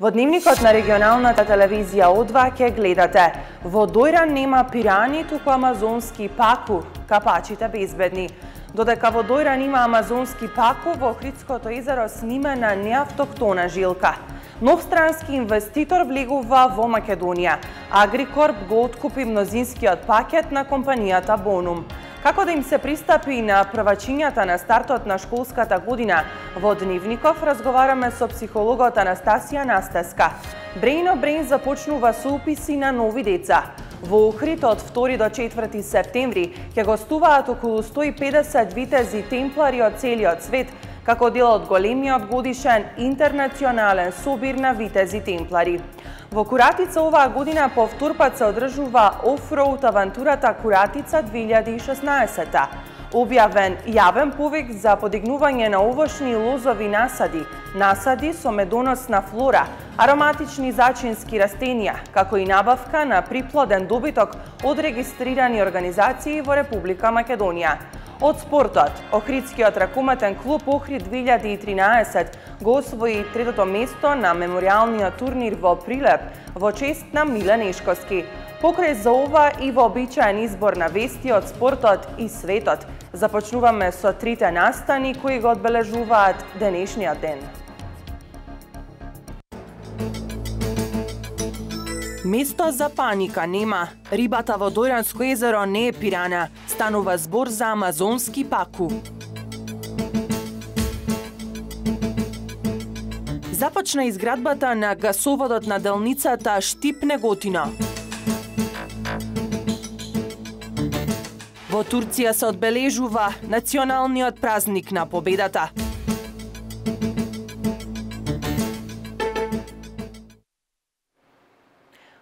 Во дневникот на регионалната телевизија О2 ќе гледате: во Дојран нема пирани, туку амазонски паку, капачите безбедни. Додека во Дојран има амазонски паку, во Охридското езеро снимена неавтохтона жилка. Нов странски инвеститор влегува во Македонија. Агрикорп го откупи мнозинскиот пакет на компанијата Бонум. Како да им се пристапи на првачињата на стартот на школската година? Во Дневников разговараме со психологот Анастасија Настеска. Брејно Брейн започнува со уписи на нови деца. Во Охрид од 2 до 4 септември ќе гостуваат околу 150 витези темплари од целиот свет, како дел од големиот годишен интернационален собир на витези темплари. Во Куратица оваа година повторпат се одржува офроуд авантурата Куратица 2016. Објавен јавен повик за подигнување на овошни и лозови насади, насади со медоносна флора, ароматични зачински растенија, како и набавка на приплоден добиток од регистрирани организации во Република Македонија. Од спортот, Охридскиот ракометен клуб Охрид 2013 го освои третото место на меморијалниот турнир во Прилеп во чест на Миле Нешковски. Покрај за ова и вообичаен избор на вести од спортот и светот, започнуваме со трите настани кои го одбележуваат денешниот ден. Место за паника нема. Рибата во Дојранско езеро не е пирана. Станува збор за амазонски паку. Започна изградбата на гасоводот на делницата Штип-Неготино. Во Турција се одбележува националниот празник на победата.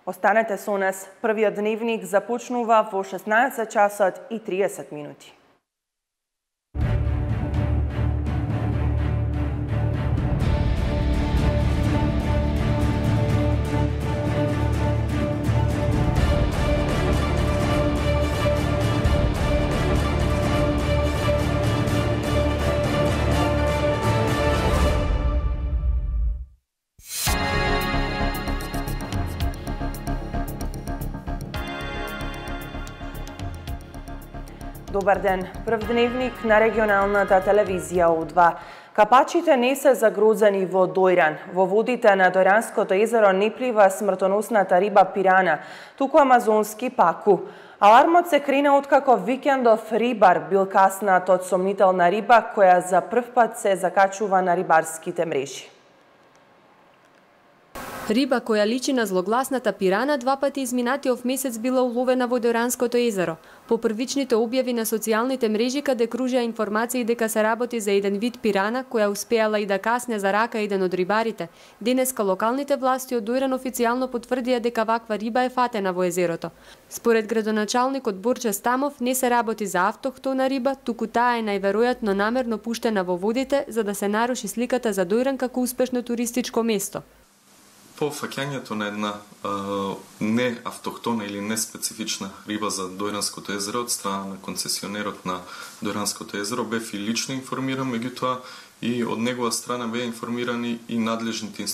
Останете со нас. Првиот дневник започнува во 16 часот и 30 минути. Добар ден. Прв дневник на регионалната телевизија О2. Капачите не се загрозени во Дојран. Во водите на Дојранското езеро не плива смртоносната риба пирана, туку амазонски паку. Алармот се крена откако викендов рибар бил каснат од сомнителна риба која за прв пат се закачува на рибарските мрежи. Риба која личи на злогласната пирана два пати изминатиот месец била уловена во Дојранското езеро. По првичните објави на социјалните мрежи каде кружеа информации дека се работи за еден вид пирана која успеала и да касне за рака еден од рибарите, денеска локалните власти од Дојран официјално потврдија дека ваква риба е фатена во езерото. Според градоначалникот Борче Стамов не се работи за автохтона риба, туку таа е најверојатно намерно пуштена во водите за да се наруши сликата за Дојран како успешно туристичко место. По фаќањето на една не автохтона или не специфична риба за Дојранското езеро од страна на концесионерот на Дојранското езеро бев и лично информиран, меѓутоа и од негова страна беа информирани и надлежните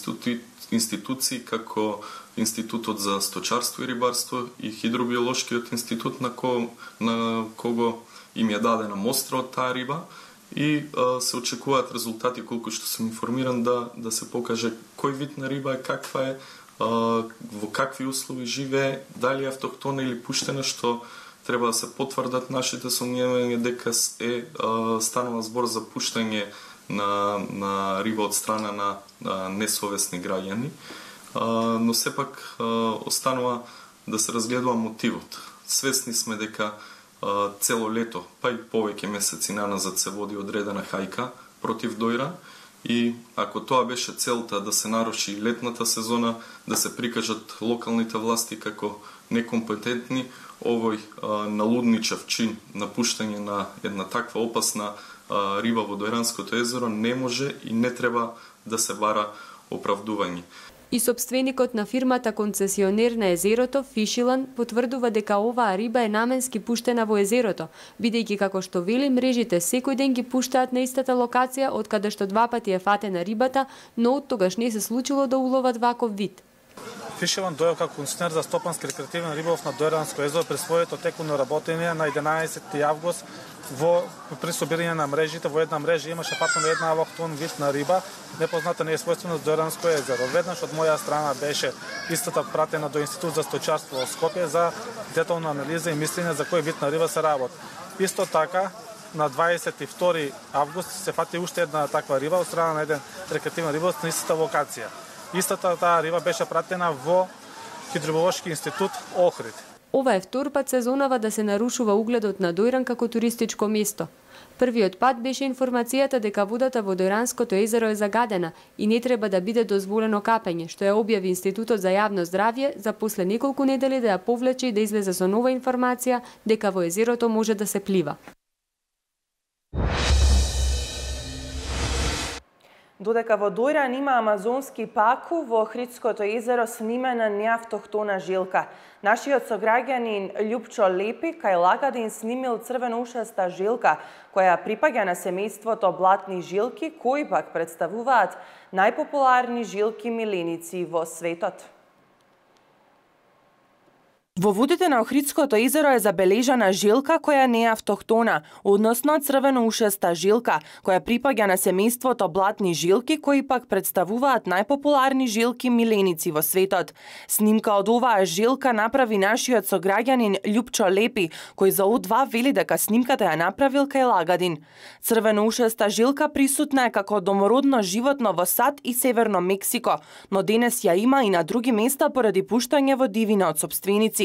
институции како Институтот за сточарство и рибарство и Хидробиолошкиот институт на кого им ја дадена мостра од таа риба. И се очекуваат резултати, колку што сум информиран, да се покаже кој вид на риба е, каква е, во какви услови живее, дали е автохтона или пуштена, што треба да се потврдат нашите сомневања дека станува збор за пуштање на риба од страна на несовесни граѓани, но сепак останува да се разгледува мотивот. Свесни сме дека цело лето, па и повеќе месеци наназад се води одредена хајка против Дојран и ако тоа беше целта да се наруши летната сезона, да се прикажат локалните власти како некомпетентни, овој налудничав чин на пуштање на една таква опасна риба во Дојранското езеро не може и не треба да се бара оправдување. И собственикот на фирмата концесионер на езерото, Фишилан, потврдува дека оваа риба е наменски пуштена во езерото, бидејќи како што вели мрежите секој ден ги пуштаат на истата локација од каде што два пати е фатена рибата, но од тогаш не се случило да уловат ваков вид. Фишилан дојде како концесионер за стопански рекреативен риболов на Дојранско езеро при своето текуно работење на 11 август при собирање на мрежите. Во една мрежа имаше фатено една алохтон вид на риба, непозната неесвојствена за Дојранско езеро. Веднаш од моја страна беше истата пратена до Институт за стојчарство во Скопје за детална анализа и мислење за кој вид на риба се работи. Исто така, на 22 август се фати уште една таква риба од страна на еден рекреативен риболов на истата локација. Истата таа риба беше пратена во Хидробиолошки институт Охрид. Ова е втор пат сезонава да се нарушува угледот на Дојран како туристичко место. Првиот пат беше информацијата дека водата во Дојранското езеро е загадена и не треба да биде дозволено капење, што ја објави Институтот за јавно здравје за после неколку недели да ја повлече и да излезе со нова информација дека во езерото може да се плива. Додека во Дојран има амазонски паку, во Охридското езеро снимена неавтохтона жилка. Нашиот сограѓанин Љупчо Лепи кај Лагадин снимил црвено-ушаста жилка, која припаѓа на семејството блатни жилки, кои пак представуваат најпопуларни жилки миленици во светот. Во водите на Охридското езеро е забележана жилка која не е автохтона, односно црвено-ушаста жилка, која припаѓа на семејството блатни жилки, кои пак представуваат најпопуларни жилки миленици во светот. Снимка од оваа жилка направи нашиот сограѓанин Љупчо Лепи, кој за О2 вели дека снимката ја направил кај Лагадин. Црвено-ушаста жилка присутна е како домородно животно во САД и Северно Мексико, но денес ја има и на други места поради пуштање во дивина од сопственици.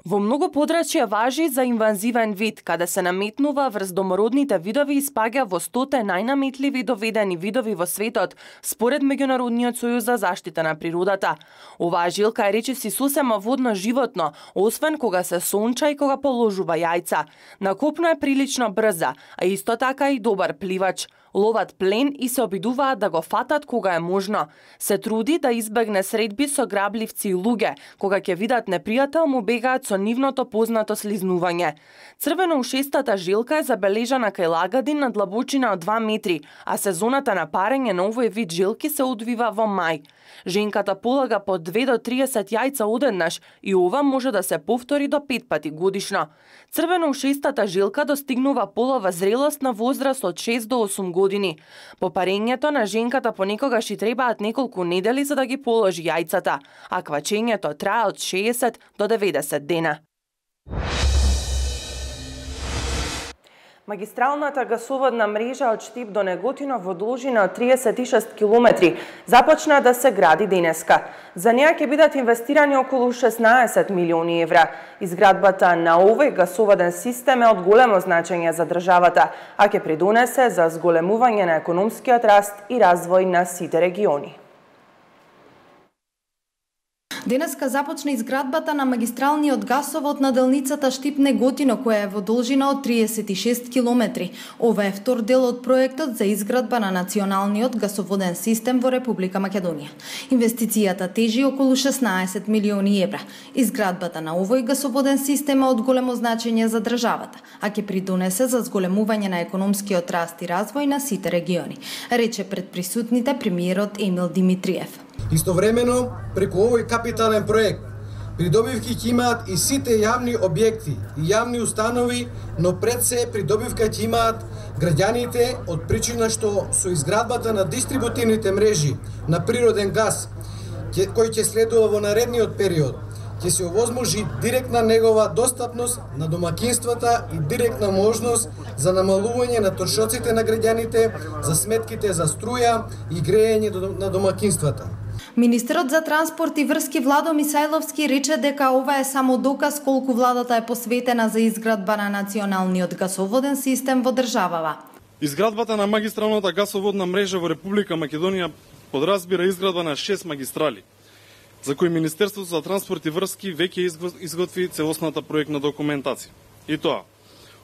Во многу подрачја важи за инвазивен вид, каде се наметнува врз домородните видови и спаѓа во 100 најнаметливи доведени видови во светот, според Меѓународниот сојуз за заштита на природата. Оваа жилка е речиси сосема водно животно, освен кога се сонча и кога положува јајца. На копно е прилично брза, а исто така и добар пливач. Ловат плен и се обидуваат да го фатат кога е можно. Се труди да избегне средби со грабливци и луѓе, кога ќе видат непријател му бегаат со нивното познато слизнување. Црвено-ушестата жилка е забележана кај Лагадин на длабочина од 2 метри, а сезоната на парење на овој вид жилки се одвива во мај. Женката полага по 2 до 30 јајца одеднаш и ова може да се повтори до 5 пати годишно. Црвено-ушестата жилка достигнува полова зрелост на возраст од 6 до 8 години. По парењето на женката понекогаш и требаат неколку недели за да ги положи јајцата, а квачењето трае од 60 до 90 дена. Магистралната гасоводна мрежа од Штип до Неготино во должина од 36 километри започна да се гради денеска. За неа ќе бидат инвестирани околу 16 милиони евра. Изградбата на овој гасоводен систем е од големо значење за државата, а ќе придонесе за зголемување на економскиот раст и развој на сите региони. Денеска започна изградбата на магистралниот гасовод на делницата Штип-Неготино, која е во должина од 36 километри. Ова е втор дел од проектот за изградба на националниот гасоводен систем во Република Македонија. Инвестицијата тежи околу 16 милиони евра. Изградбата на овој гасоводен систем е од големо значење за државата, а ќе придонесе за зголемување на економскиот раст и развој на сите региони, рече пред присутните премиерот Емил Димитриев. Истовремено, преку овој капитален проект, придобивки ќе имаат и сите јавни објекти и јавни установи, но пред се придобивка ќе имаат граѓаните од причина што со изградбата на дистрибутивните мрежи на природен газ, кој ќе следува во наредниот период, ќе се овозможи директна негова достапност на домакинствата и директна можност за намалување на трошоците на граѓаните за сметките за струја и грејење на домакинствата. Министерот за транспорт и врски Владо Мисајловски рече дека ова е само доказ колку владата е посветена за изградба на националниот гасоводен систем во државава. Изградбата на магистралната гасоводна мрежа во Република Македонија подразбира изградба на 6 магистрали, за кои Министерството за транспорт и врски веќе изготви целосната проектна документација. И тоа,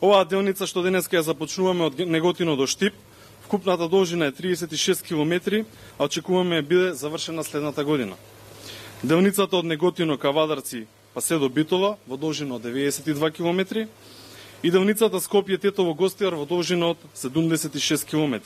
оваа делница што денеска ја започнуваме од Неготино до Штип, вкупната должина е 36 километри, а очекуваме да биде завршена следната година. Делницата од Неготино ка Вадарци па се до Битола во должина од 92 км и делницата Скопје Тетово Гостивар во должина од 76 км.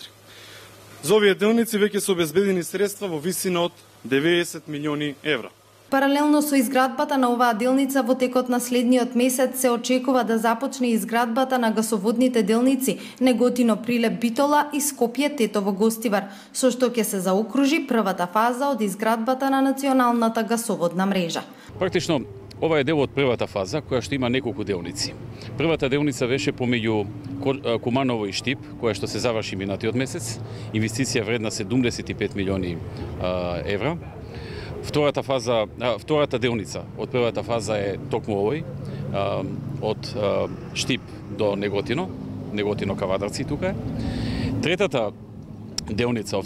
За овие делници веќе се обезбедени средства во висина од 90 милиони евра. Паралелно со изградбата на оваа делница во текот на следниот месец се очекува да започне изградбата на гасоводните делници Неготино Прилеп Битола и Скопје Тетово Гостивар, со што ќе се заокружи првата фаза од изградбата на националната гасоводна мрежа. Практично ова е дел од првата фаза која што има неколку делници. Првата делница беше помеѓу Куманово и Штип, која што се заврши минатиот месец, инвестиција вредна 75 милиони евра. Втората делница од првата фаза е токму овој, од Штип до Неготино ка Вадарци тука е. Третата делница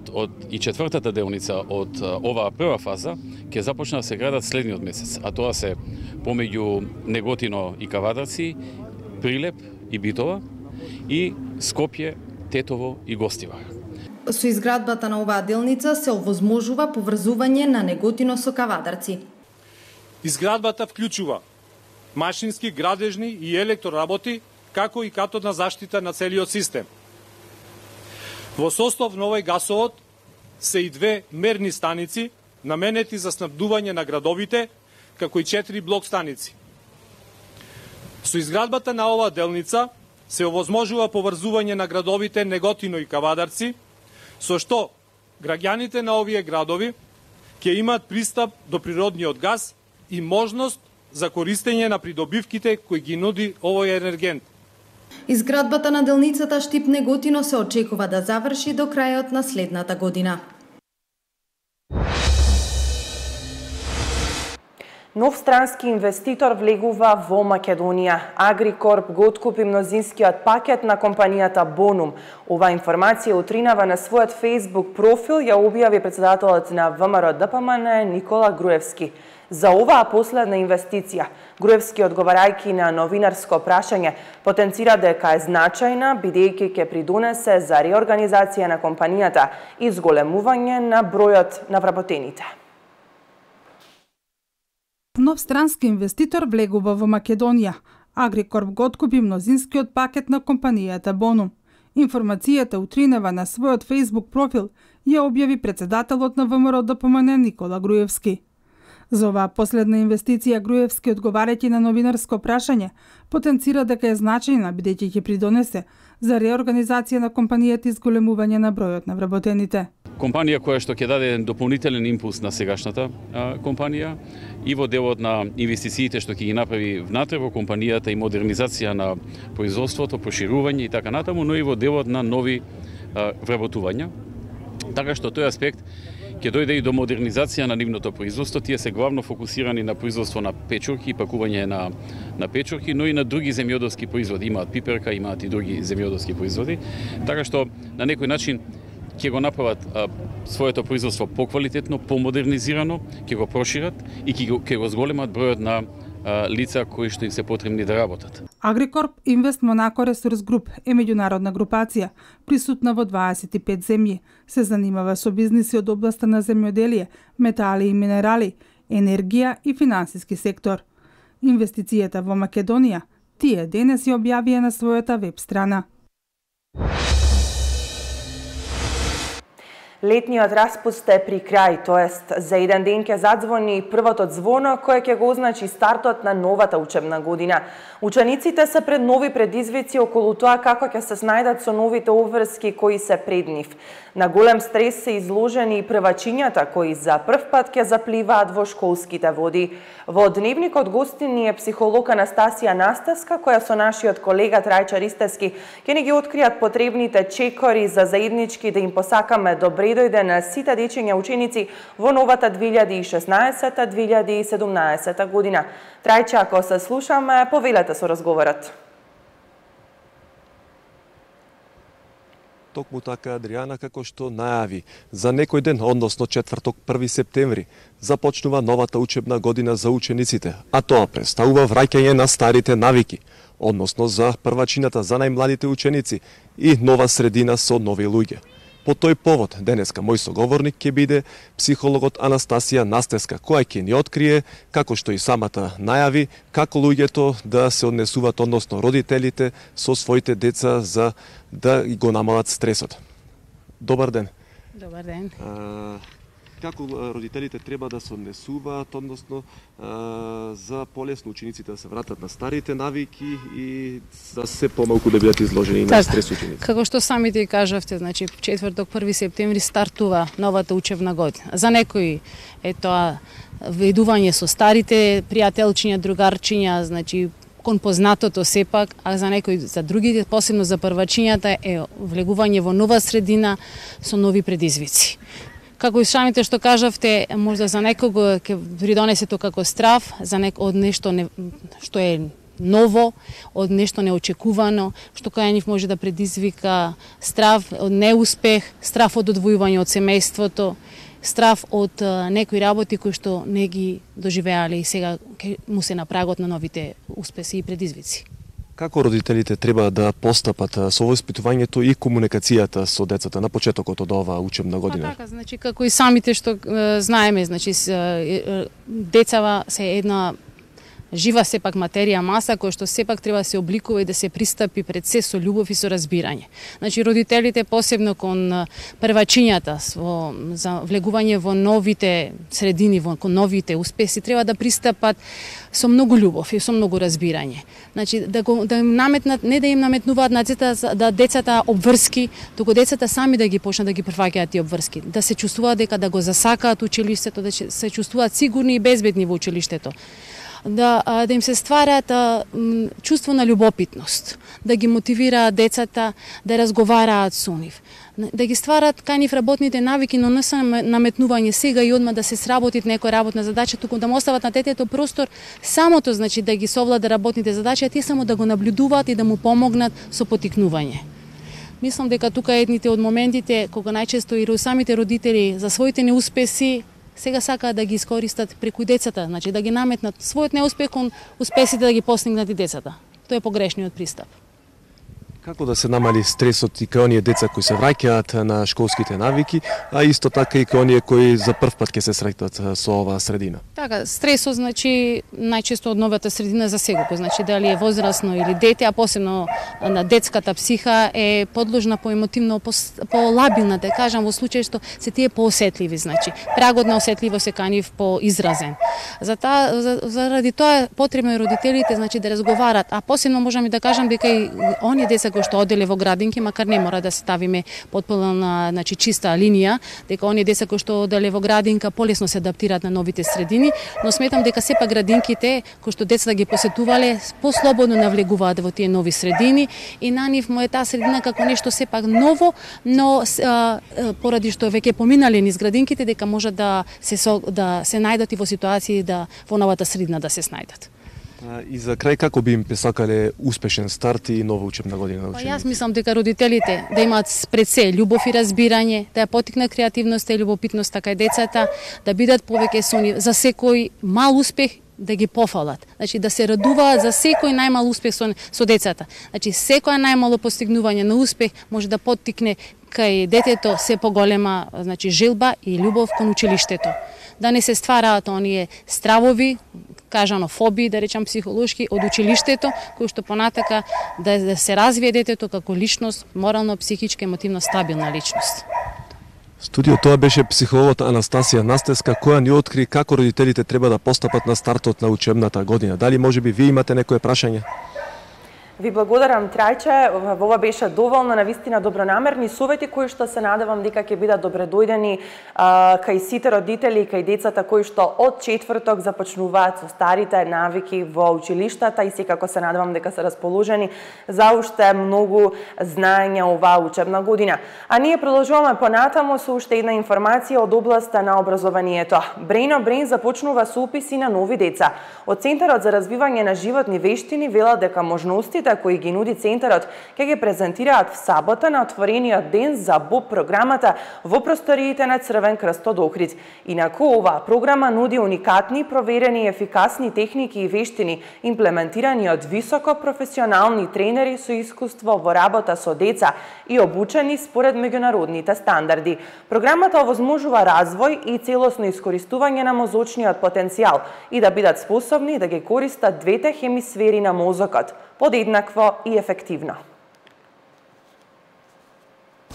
и четвртата делница од оваа прва фаза ќе започна да се градат следниот месец, а тоа се помеѓу Неготино и Кавадарци, Прилеп и Битола и Скопје, Тетово и Гостивар. Со изградбата на оваа делница се овозможува поврзување на Неготино со Кавадарци. Изградбата вклучува машински, градежни и електроработи, како и катодна заштита на целиот систем. Во состав на овој гасовод се и 2 мерни станици, наменети за снабдување на градовите, како и 4 блок станици. Со изградбата на оваа делница се овозможува поврзување на градовите Неготино и Кавадарци, со што граѓаните на овие градови ќе имаат пристап до природниот газ и можност за користење на придобивките кои ги нуди овој енергент. Изградбата на делницата Штип Неготино се очекува да заврши до крајот на следната година. Нов странски инвеститор влегува во Македонија. Агрикорп го откупи мнозинскиот пакет на компанијата Bonum. Ова информација утринава на својот Facebook профил ја објави председателот на ВМРО ДПМН Никола Груевски. За оваа последна инвестиција, Груевски, одговарајќи на новинарско прашање, потенцира дека е значајна, бидејќи ќе придонесе за реорганизација на компанијата и зголемување на бројот на вработените. Нов странски инвеститор влегува во Македонија. Агрикорп го откупи мнозинскиот пакет на компанијата Bonum. Информацијата утринава на својот Facebook профил ја објави председателот на ВМРО ДПМН Никола Груевски. За оваа последна инвестиција Груевски, одговарајќи на новинарско прашање, потенцира дека е значајна, бидејќи ќе придонесе за реорганизација на компанијата и зголемување на бројот на вработените. Компанија која што ќе даде еден дополнителен импулс на сегашната компанија и во делот на инвестициите што ќе ги направи внатре во компанијата и модернизација на производството, проширување и така натаму, но и во делот на нови вработувања. Така што тој аспект ќе дојде и до модернизација на нивното производство. Тие се главно фокусирани на производство на печурки и пакување на печурки, но и на други земјоделски производи. Имаат пиперка, имаат и други земјоделски производи. Така што на некој начин ќе го направат своето производство поквалитетно, помодернизирано, ќе го прошират и ќе го зголемат бројот на лица кои што им се потребни да работат. Агрикорп Инвест Монако Ресурс Груп е меѓународна групација, присутна во 25 земји. Се занимава со бизниси од областа на земјоделие, метали и минерали, енергија и финансиски сектор. Инвестицијата во Македонија тие денес ја објавија на својата веб страна. Летниот распуст е при крај, тоест за еден ден ќе задзвони првото звоно кој ќе го означи стартот на новата учебна година. Учениците се пред нови предизвици околу тоа како ќе се снајдат со новите обврски кои се пред нив. На голем стрес се изложени и првачињата кои за прв пат ќе запливаат во школските води. Во дневникот гостини е психолог Анастасија Настаска, која со нашиот колега Трајча Ристевски ќе ни ги откријат потребните чекори за заеднички да им посакаме добре дојде на сите дечиња ученици во новата 2016-2017 година. Трајча, ако се слушаме, повелете со разговорот. Токму така, Адријана, како што најави, за некој ден, односно четврток 1 септември, започнува новата учебна година за учениците, а тоа представува враќање на старите навики, односно за првачината за најмладите ученици и нова средина со нови луѓе. По тој повод, денеска мој соговорник ќе биде психологот Анастасија Настеска, која ќе ни открие, како што и самата најави, како луѓето да се однесуваат, односно родителите, со своите деца за да го намалат стресот. Добар ден. Добар ден. Како родителите треба да се однесуваат, односно за полесно учениците да се вратат на старите навики и за се помалку да бидат изложени на стрес ученици? Како што самите кажавте, значи четврток 1 септември стартува новата учебна година. За некои е тоа ведување со старите пријателчиња, другарчиња, значи кон познатото сепак, а за некои, за другите, посебно за првачињата е влегување во нова средина со нови предизвици. Како и самите што кажавте, можда за некого ќе придонесе тоа како страв, од нешто што е ново, од нешто неочекувано, што кај нив може да предизвика страв од неуспех, страв од одвојување од семејството, страв од некои работи кои што не ги доживеале и сега му се на прагот на новите успеси и предизвици. Како родителите треба да постапат со воспитувањето и комуникацијата со децата на почетокот од оваа учебна година? Така, значи како и самите што знаеме, значи децава се една жива сепак материја, маса, која што сепак треба да се обликува и да се пристапи пред се со љубов и со разбирање. Значи, родителите, посебно кон првачињата, за влегување во новите средини, кон новите успеси, треба да пристапат со многу љубов и со многу разбирање. Значи, да им наметнат, не да им наметнуваат на децата обврски, туку децата сами да ги почнат да ги прифаќаат тие обврски, да се чувствуваат дека да го засакаат училиштето, да се чувствуваат сигурни и безбедни во училиштето. Да им се стварат чувство на љубопитност, да ги мотивираат децата да разговараат со нив, да ги стварат кај нив работните навики, но не се наметнување сега и одма да се сработи некоја работна задача, туку да му остават на детето простор самото, значи да ги совлада работните задачи, а тие само да го наблюдуваат и да му помогнат со поттикнување. Мислам дека тука едните од моментите кога најчесто и самите родители за своите неуспеси сега сакаат да ги искористат преку децата, значи да ги наметнат својот неуспех кон успесите да ги постигнат и децата. Тоа е погрешниот пристап. Како да се намали стресот и кај оние деца кои се враќаат на школските навики, а исто така и кај оние кои за прв пат ќе се сретнат со оваа средина? Така, стресот значи најчесто од новата средина за секој, значи дали е возрасно или дете, а посебно на детската психа е подложна по емотивно по-лабилна, да кажам, во случај што се тие поосетливи, значи прагот на осетливост се кај нив поизразен. Заради тоа е потребно и родителите значи да разговарат, а посебно можам и да кажам дека и оние деца кои што оделе во градинки, макар не мора да ставиме потполна значи чиста линија, дека оние деца кои што оделе во градинка полесно се адаптираат на новите средини, но сметам дека сепак градинките кои што децата ги посетувале послободно навлегуваат во тие нови средини и на нив му е таа средина како нешто сепак ново, но поради што веќе поминале низ градинките дека можат да се најдат и во ситуации да во новата средина да се снајдат. И за крај, како би им посакале успешен старт и нова учебна година на учениците? Јас мислам дека родителите да имаат пред се љубов и разбирање, да ја поттикнат креативноста и љубопитноста кај децата, да бидат повеќе со нив, за секој мал успех да ги пофалат. Значи да се радуваат за секој најмал успех со децата. Значи секоја најмало постигнување на успех може да поттикне кај детето се поголема значи желба и љубов кон училиштето. Да не се ствараат оние стравови, кажано фобии, да речам психолошки, од училиштето, кој што понатака да се развие детето како личност, морално, психички, емотивно стабилна личност. Студио тоа беше психологот Анастасија Настеска, која ни откри како родителите треба да постапат на стартот на учебната година. Дали можеби вие имате некое прашање? Ви благодарам, Трајче. Ова беше доволно навистина добронамерни совети кои што се надевам дека ќе бидат добредојдени кај сите родители и кај децата кои што од четврток започнуваат со старите навики во училиштата и секако се надевам дека се расположени за уште многу знаења оваа учебна година. А ние продолжуваме понатамо со уште една информација од областа на образованието. Brain on Brain започнува со уписи на нови деца. Од Центарот за развивање на животни вештини велат дека можности Гостите кои ги нуди центарот ќе ги презентираат в сабота на отворениот ден за БОП програмата во просториите на Црвен крст од Охрид. Инаку оваа програма нуди уникатни, проверени и ефикасни техники и вештини, имплементирани од високо професионални тренери со искуство во работа со деца и обучени според меѓународните стандарди. Програмата овозможува развој и целосно искористување на мозочниот потенцијал и да бидат способни да ги користат двете хемисфери на мозокот подеднакво и ефективно.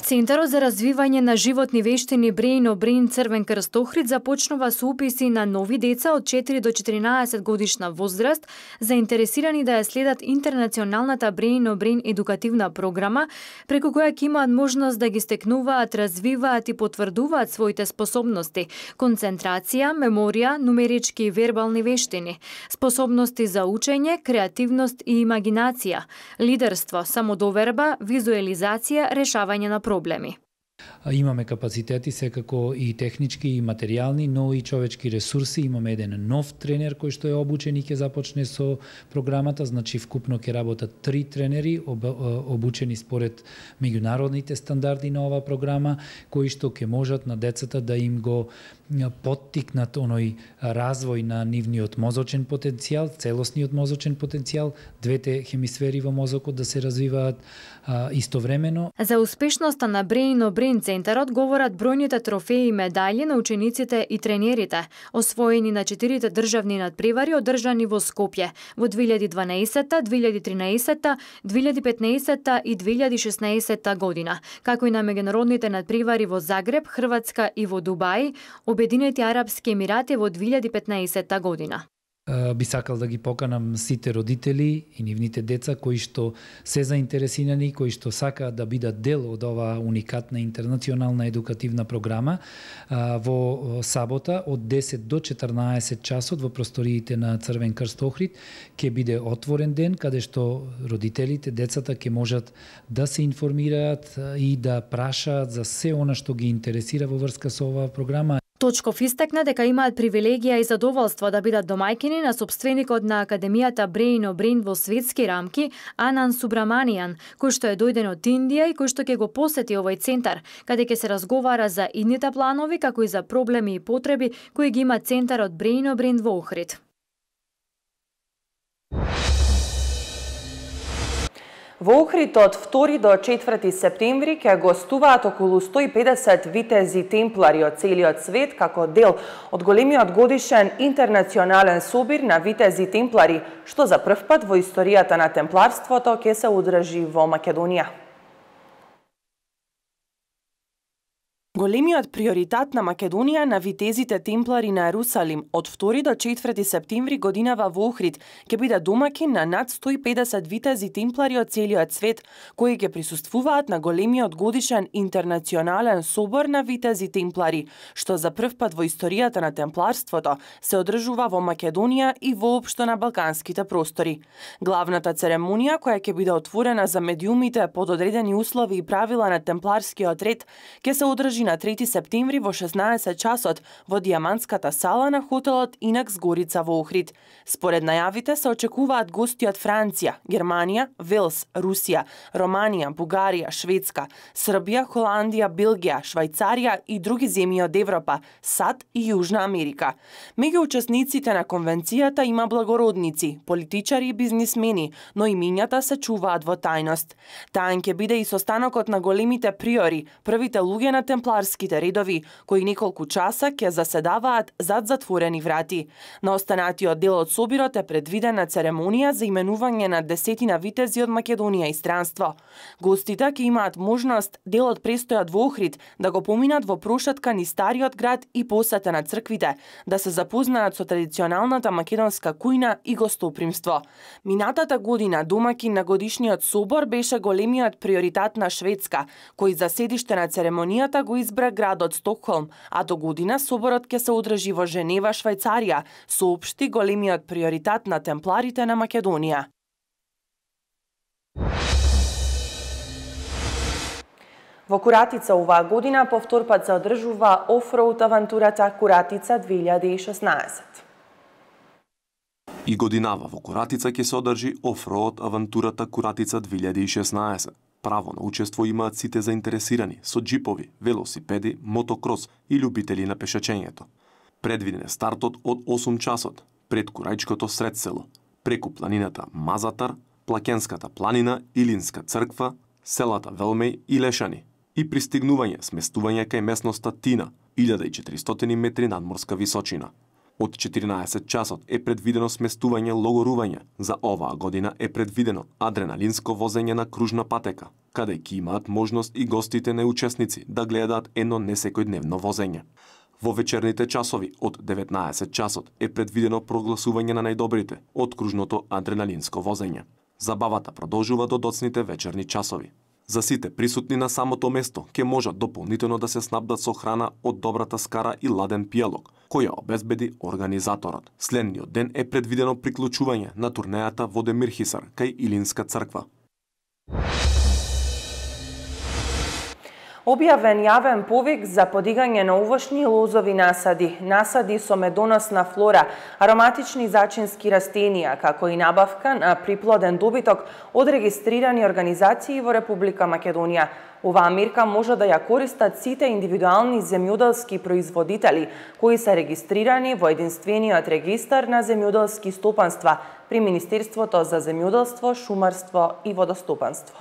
Центарот за развивање на животни вештини Brain of Brain Црвен крст Охрид започнува со уписи на нови деца од 4 до 14 годишна возраст, заинтересирани да ја следат интернационалната Brain of Brain едукативна програма, преку која ќе имаат можност да ги стекнуваат, развиваат и потврдуваат своите способности, концентрација, меморија, нумерички и вербални вештини, способности за учење, креативност и имагинација, лидерство, самодоверба, визуелизација, решавање на проблеми. Имаме капацитети секако и технички и материјални, но и човечки ресурси. Имаме еден нов тренер кој што е обучен и ќе започне со програмата, значи вкупно ќе работат 3 тренери обучени според меѓународните стандарди на оваа програма, кои што ќе можат на децата да им го поттикнат оној развој на нивниот мозочен потенцијал, целосниот мозочен потенцијал, двете хемисфери во мозокот да се развиваат истовремено. За успешноста на Brain of Brain центарот говорат бројните трофеи и медали на учениците и тренерите, освоени на 4 државни надпревари одржани во Скопје во 2012, 2013, 2015 и 2016 година, како и на меѓународните надпревари во Загреб, Хрватска и во Дубај, Обединети арапски емирати во 2015 година. Би сакал да ги поканам сите родители и нивните деца кои што се заинтересирани, кои што сакаат да бидат дел од оваа уникатна интернационална едукативна програма во сабота од 10 до 14 часот во просториите на Црвен крст Охрид ќе биде отворен ден каде што родителите, децата ќе можат да се информираат и да прашаат за се она што ги интересира во врска со оваа програма. Точков истакна дека имаат привилегија и задоволство да бидат домајкини на сопственикот на Академијата Brain of Brain во светски рамки, Анан Субраманијан, кој што е дојден од Индија и кој што ќе го посети овој центар, каде ќе се разговара за идните планови, како и за проблеми и потреби кои ги има центарот Brain of Brain во Охрид. Во Охрид од 2 до 4 септември ќе гостуваат околу 150 витези темплари од целиот свет како дел од големиот годишен интернационален собир на витези темплари, што за прв пат во историјата на темпларството ќе се одржи во Македонија. Големиот приоритет на Македонија на витезите темплари на Ерусалим од 2 до 4 септември годинава во Охрид ќе биде домаќин на над 150 витези темплари од целиот свет, кои ќе присуствуваат на големиот годишен интернационален собор на витези темплари, што за прв пат во историјата на темпларството се одржува во Македонија и воопшто на балканските простори. Главната церемонија, која ќе биде отворена за медиумите под одредени услови и правила на темпларскиот ред, ќе се одржи на 3 септември во 16 часот во Диамантската сала на хотелот Инакс Горица во Охрид. Според најавите се очекуваат гости од Франција, Германија, Велс, Русија, Романија, Бугарија, Шведска, Србија, Холандија, Белгија, Швајцарија и други земји од Европа, САД и Јужна Америка. Меѓу учесниците на конвенцијата има благородници, политичари и бизнисмени, но имињата се чуваат во тајност. Таен ќе биде и состанокот на големите приори, првите луѓе на темпларските редови, кои неколку часа ќе заседаваат зад затворени врати. На останатиот дел од собирот е предвидена церемонија за именување на 10 витези од Македонија и странство. Гостите ќе имаат можност дел од престојот во Охрид да го поминат во прошетка низ стариот град и посета на црквите, да се запознаат со традиционалната македонска кујна и гостопримство. Минатата година домаќин на годишниот собор беше големиот приоритет на Шведска, кој за седиште на церемонијата го избра градот Стокхолм, а до година соборот ќе се одржи во Женева, Швајцарија, соопшти големиот приоритет на темпларите на Македонија. Во Куратица оваа година повтор пат се одржува офроуд авантурата Куратица 2016. И годинава во Куратица ќе се одржи офроуд авантурата Куратица 2016. Право на учество имаат сите заинтересирани со джипови, велосипеди, мотокрос и љубители на пешачењето. Предвиден е стартот од 8 часот пред Курајчкото сред село, преку планината Мазатар, Плакенската планина, Илинска црква, селата Велмеј и Лешани и пристигнување сместување кај местноста Тина, 1400 метри надморска височина. Од 14 часот е предвидено сместување логорување. За оваа година е предвидено адреналинско возење на кружна патека, каде ќе имаат можност и гостите неучесници да гледаат едно несекојдневно возење. Во вечерните часови од 19 часот е предвидено прогласување на најдобрите од кружното адреналинско возење. Забавата продолжува до доцните вечерни часови. За сите присутни на самото место ќе можат дополнително да се снабдат со храна од добрата скара и ладен пијалок, која обезбеди организаторот. Следниот ден е предвидено приклучување на турнејата во Демирхисар кај Илинска црква. Објавен јавен повик за подигање на овошни лозови насади со медоносна флора, ароматични зачински растенија, како и набавка на приплоден добиток од регистрирани организации во Република Македонија. Оваа мерка може да ја користат сите индивидуални земјоделски производители кои се регистрирани во единствениот регистар на земјоделски стопанства при Министерството за земјоделство, шумарство и водостопанство.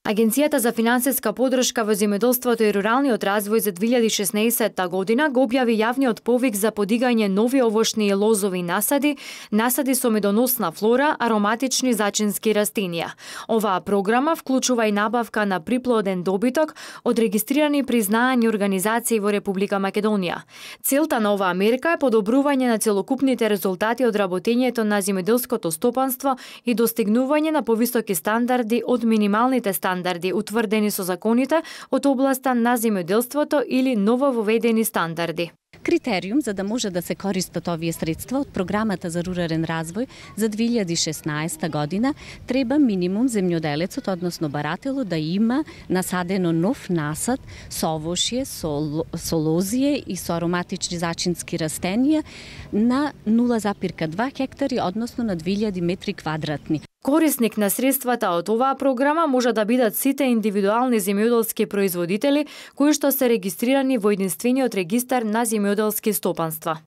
Агенцијата за финансиска подршка во земјоделството и руралниот развој за 2016 година го објави јавниот повик за подигање нови овошни и лозови насади, насади со медоносна флора, ароматични зачински растенија. Оваа програма вклучува и набавка на приплоден добиток од регистрирани признаани организации во Република Македонија. Целта на оваа мерка е подобрување на целокупните резултати од работењето на земјоделското стопанство и достигнување на повисоки стандарди од минималните стандарди утврдени со законите од областа на земјоделството или новововедени стандарди. Критериум за да може да се користат овие средства од програмата за рурален развој за 2016 година треба минимум земјоделецот, односно барателот, да има насадено нов насад со овошје, со лозие и со ароматични зачински растенија на 0,2 хектари, односно на 2000 метри квадратни. Корисник на средствата од оваа програма може да бидат сите индивидуални земјоделски производители кои што се регистрирани во единствениот регистар на земјоделски стопанства.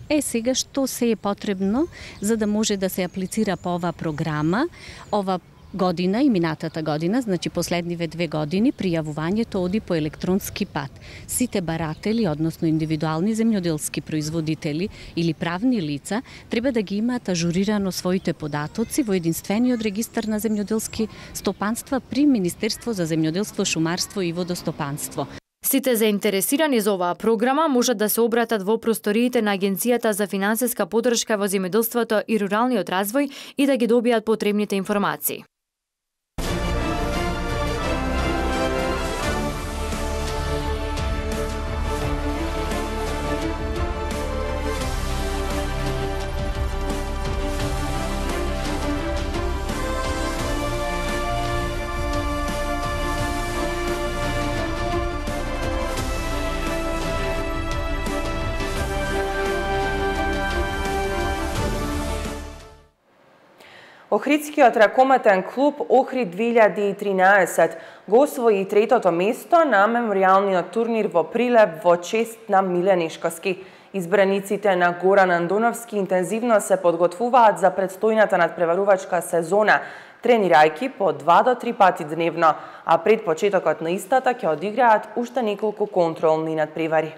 Сега што се е потребно за да може да се аплицира по оваа програма? Ова година и минатата година, значи последниве 2 години, пријавувањето оди по електронски пат. Сите баратели, односно индивидуални земјоделски производители или правни лица, треба да ги имаат ажурирано своите податоци во единствениот регистар на земјоделски стопанства при Министерство за земјоделство, шумарство и водостопанство. Сите заинтересирани за оваа програма можат да се обратат во просториите на Агенцијата за финансиска подршка во земјоделството и руралниот развој и да ги добијат потребните информации. Охридскиот ракометен клуб Охрид 2013 го освои третото место на меморијалниот турнир во Прилеп во чест на Миле Нешковски. Избраниците на Горан Андоновски интензивно се подготвуваат за предстојната надпреварувачка сезона, тренирајќи по 2 до 3 пати дневно, а пред почетокот на истата ќе одиграат уште неколку контролни надпревари.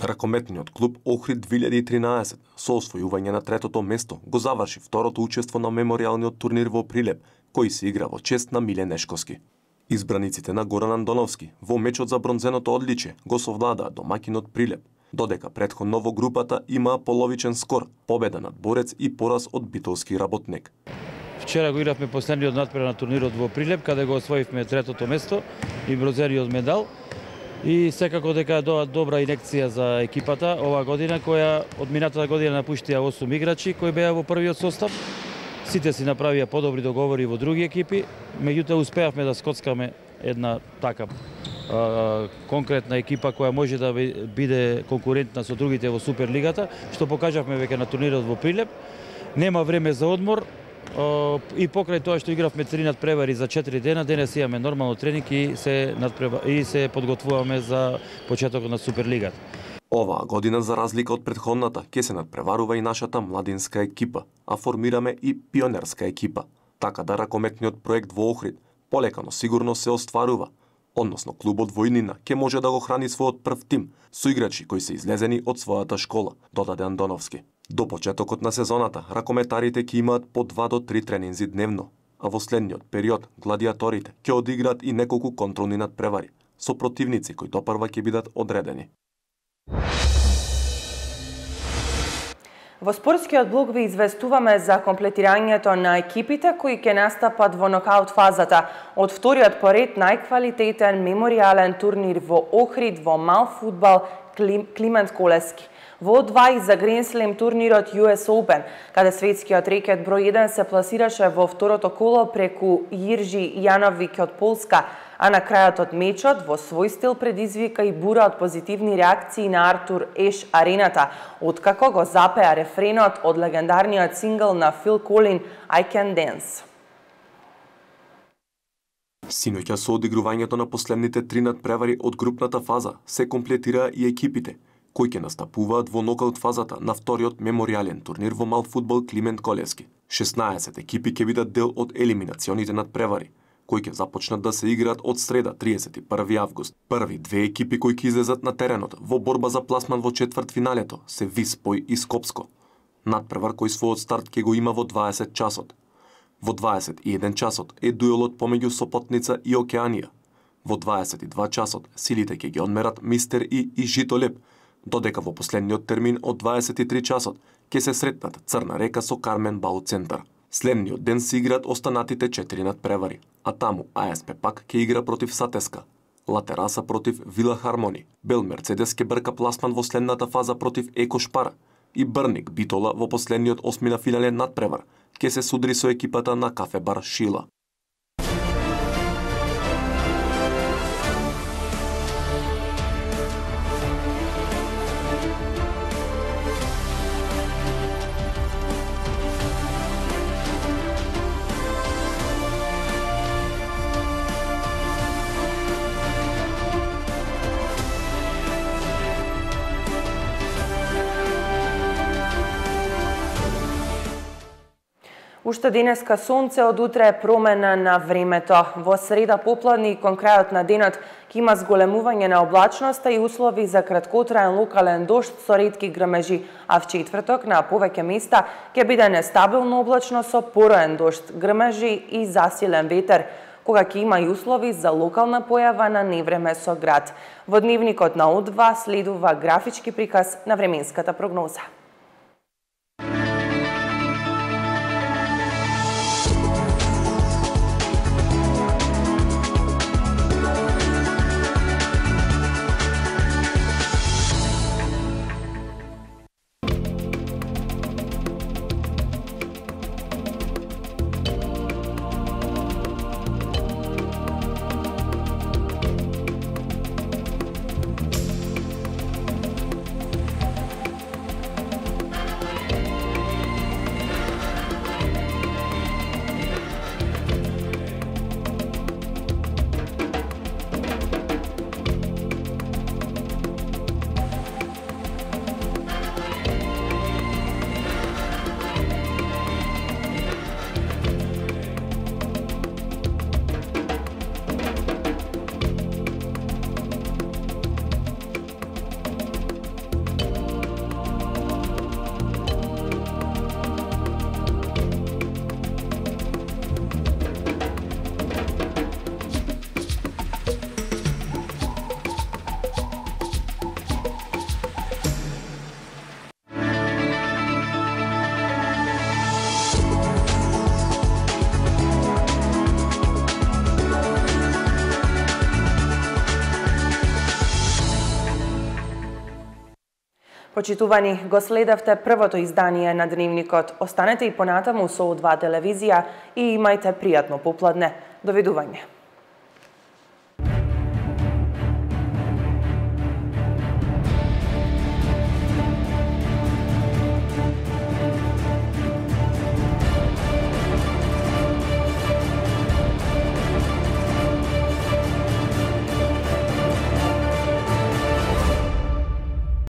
Ракометниот клуб Охрид 2013 со освојување на третото место го заврши второто учество на меморијалниот турнир во Прилеп, кој се игра во чест на Миле Нешковски. Избраниците на Горан Андоновски во мечот за бронзеното одличие го совладаа домаќинот Прилеп, додека претходно во групата имаа половичен скор, победа над Борец и пораз од Битолски Работник. Вчера го игравме последниот надпревар на турнирот во Прилеп, каде го освоивме третото место и бронзениот медал. И секако дека добра инекција за екипата оваа година, која од минатата година напуштија 8 играчи кои беа во првиот состав. Сите си направија подобри договори во други екипи, меѓутоа успеавме да скоцкаме една така конкретна екипа која може да биде конкурентна со другите во Суперлигата, што покажавме веќе на турнирот во Прилеп. Нема време за одмор и покрај тоа што игравме 3 надпревари за 4 дена, денес имаме нормално тренинг и се подготвуваме за почетокот на Суперлигата. Оваа година, за разлика од претходната, ќе се надпреварува и нашата младинска екипа, а формираме и пионерска екипа. Така да ракометниот проект во Охрид полека но сигурно се остварува, односно клубот во иднина ќе може да го храни својот прв тим со играчи кои се излезени од својата школа, додаде Андоновски. До почетокот на сезоната, ракометарите ќе имаат по 2 до 3 тренинзи дневно, а во следниот период гладиаторите ќе одиграат и неколку контролни надпревари со противници кои допрва ќе бидат одредени. Во спортскиот блог ви известуваме за комплетирањето на екипите кои ќе настапат во нокаут фазата од вториот поред најквалитетен меморијален турнир во Охрид во мал фудбал Климент Колески. Во 2 за Grand Slam турнирот US Open, каде светскиот рекет број 1 се пласираше во второто коло преку Јиржи Јановик од Полска, а на крајот од мечот во свој стил предизвика и бура од позитивни реакции на Артур Еш арената, откако го запеа рефренот од легендарниот сингл на Фил Колин I Can Dance. Синоќа со одигрувањето на последните 3 надпревари од групната фаза се комплетира и екипите кои ќе настапуваат во нокаут фазата на вториот меморијален турнир во мал фудбал Климент Колески. 16 екипи ќе бидат дел од елиминационите надпревари, кои ќе започнат да се играат од среда 31 август. Први 2 екипи кои ќе излезат на теренот во борба за пласман во четвртфиналето се Виспој и Скопско. Надпревар кој својот старт ќе го има во 20 часот. Во 21 часот е дуелот помеѓу Сопотница и Океанија. Во 22 часот силите ќе ги одмерат Мистер и Житолеп, додека во последниот термин од 23 часот ќе се сретнат Црна река со Кармен Бау Центар. Следниот ден се играат останатите 4 надпревари, а таму АСП пак ќе игра против Сатеска, Латераса против Вила Хармони, Бел Мерцедес ќе брка пласман во следната фаза против Еко Шпара и Брник Битола во последниот 8 на финален надпревар ќе се судри со екипата на Кафе Бар Шила. Уште денеска сонце, од утре промена на времето. Во среда попладне и кон крајот на денот ќе има зголемување на облачноста и услови за краткотраен локален дожд со ретки грмежи, а в четврток на повеќе места ќе биде нестабилно облачно со пороен дожд, грмежи и засилен ветер, кога ќе има и услови за локална појава на невреме со град. Во дневникот на О2 следува графички приказ на временската прогноза. Почитувани, го следевте првото издание на Дневникот. Останете и понатаму со О2 телевизија и имајте пријатно попладне. Довидување.